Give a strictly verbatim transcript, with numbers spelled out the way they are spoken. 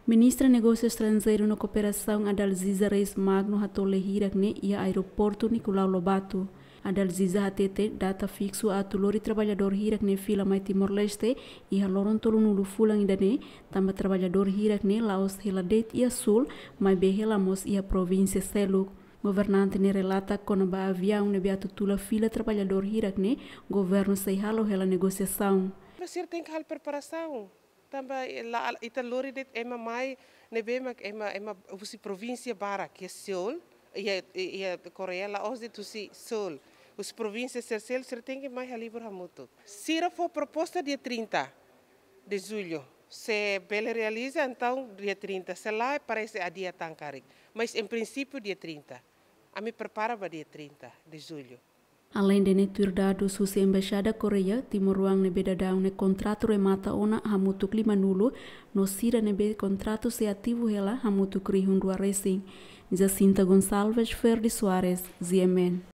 Ministra Negósiu Estranjeiru no Kooperasaun Adalziza Reis Magno hato'o lee hirak ne'e iha Aeroportu Nicolau Lobato. Adalziza hatete data fiksu atu lori traballadór hirak ne'e fila mai Timor-Leste iha loron tolunulu fulan ida-ne'e, tanba traballadór hirak ne'e la'ós hela de'it iha Sul, maibé hela mós iha provínsia seluk. Governante ne'e relata kona-ba aviaun ne'ebé atu tula fila traballadór hirak ne'e, governu sei halo hela negosiasaun. Sira tenke halo preparasaun. Tanba ita lori de'it ema mai ne'ebé mak ema, ema husi provínsia barak, iha Seul, iha, iha Koreia, la'ós de'it husi Seul. Husi provínsia sira seluk, sira tenke mai halibur hamutuk. Sira fó proposta dia trinta de julho. Se bele realiza, entaun dia trinta. Se lae, parese adia tan karik. Mas, em princípio, dia trinta. Ami prepara ba dia trinta de julho. Aleinde ne'e, tuir dadus husi Embaixada Koreia, timoroan ne'ebé daudaun nia kontratu remata ona hamutuk limanulu, no sira ne'ebé kontratu sei ativu hela hamutuk rihun rua resin. Jacinta Gonçalves, Ferdi Soares, G M N.